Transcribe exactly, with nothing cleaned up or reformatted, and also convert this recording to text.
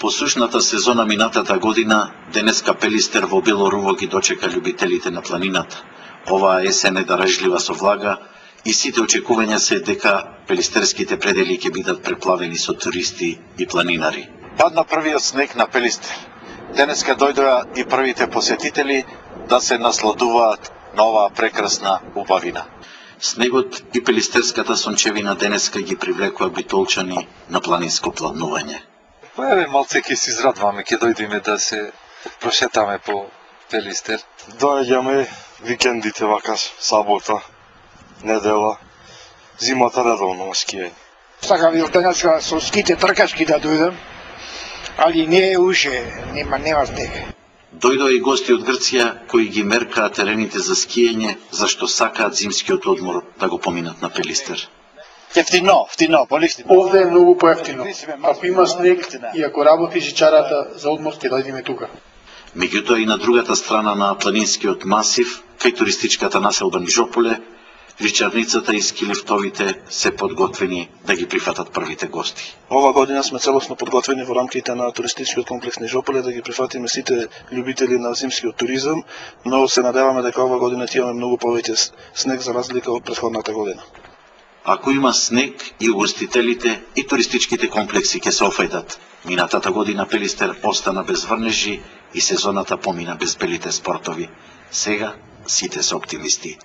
По сушната сезона минатата година, денеска Пелистер во Белоруво ги дочека љубителите на планината. Оваа есен е даражлива со влага и сите очекувања се дека пелистерските предели ќе бидат преплавени со туристи и планинари. Падна првиот снег на Пелистер. Денеска дојдоа и првите посетители да се насладуваат на оваа прекрасна убавина. Снегот и пелистерската сончевина денеска ги привлекува битолчани на планинско планување. Па еве малце ќе се израдваме, ќе дојдеме да се прошетаме по Пелистер. Доаѓаме викендите вакаш, сабота, недела, зимата редовно на скијање. Сакам и денеска со ските тркачки да дојдем, али не е уше, нема нема снег. Дојдоа и гости од Грција кои ги меркаат терените за скијање, зашто сакаат зимскиот одмор да го поминат на Пелистер. Ефтино, ефтино, полисти. Овде е многу поевтино. Ако има снег и ако работи жичарата за одмор, ќе дојдеме тука. Меѓутоа и на другата страна на планинскиот масив, кај туристичката населба Нижополе, жичарницата и скилифтовите се подготвени да ги прифатат првите гости. Ова година сме целосно подготвени во рамките на туристичкиот комплекс Нижополе да ги прифатиме сите љубители на зимскиот туризам, но се надеваме дека ова година ќе имаме многу повеќе снег за разлика од претходната година. Ако има снег и угостителите и туристичките комплекси ќе се офајдат. Минатата година Пелистер остана без врнежи и сезоната помина без белите спортови. Сега сите се оптимисти.